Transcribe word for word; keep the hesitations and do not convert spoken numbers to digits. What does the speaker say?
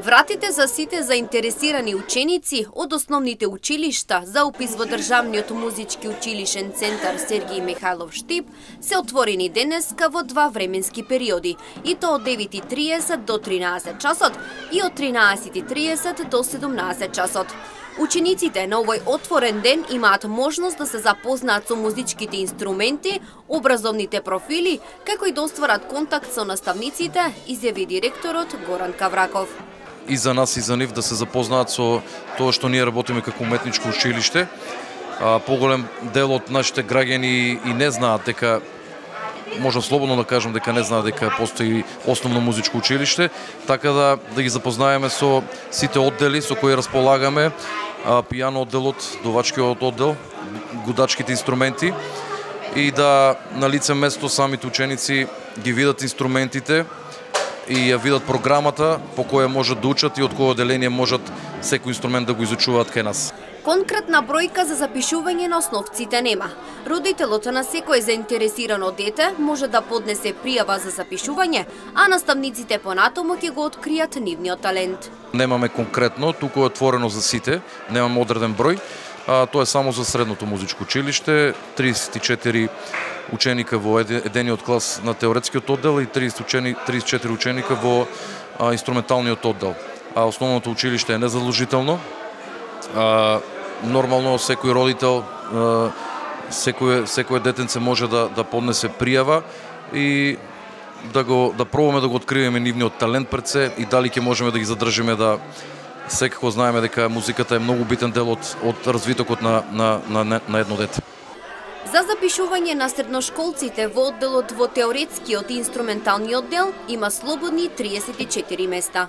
Вратите за сите заинтересирани ученици од основните училишта за упис во Државниот музички училишен центар Сергиј Михајлов Штип се отворени денеска во два временски периоди, и то од девет и триесет до тринаесет часот и од тринаесет и триесет до седумнаесет часот. Учениците на овој отворен ден имаат можност да се запознаат со музичките инструменти, образовните профили, како и да остварат контакт со наставниците, изјави директорот Горан Кавраков. И за нас и за нив да се запознаат со тоа што ние работиме како уметничко училиште. Поголем дел од нашите граѓани и не знаат дека, можам слободно да кажам дека не знаат дека постои основно музичко училиште, така да да ги запознаеме со сите оддели со кои располагаме, пијано одделот, дувачкиот оддел, гудачките инструменти, и да на лице место самите ученици ги видат инструментите и ја видат програмата по која можат да учат и од кој одделение можат секој инструмент да го изучуваат кај нас. Конкретна бројка за запишување на основците нема. Родителот на секој заинтересирано дете може да поднесе пријава за запишување, а наставниците понатаму ќе го откријат нивниот талент. Немаме конкретно, туку е отворено за сите, немаме одреден број. А, тоа е само за средното музичко училиште, триесет и четири ученика во едениот клас на теоретскиот оддел и триесет и четири ученика во а, инструменталниот оддел. А основното училиште е незадолжително. А, нормално секој родител, а, секој секој детенце може да да поднесе пријава и да го да пробаме да го откриеме нивниот талент пред се и дали ќе можеме да ги задржиме. Да секако знаеме дека музиката е многу битен дел од од развитокот на на на на едно дете. За запишување на средношколците во одделот во теоретскиот и инструменталниот дел има слободни триесет и четири места.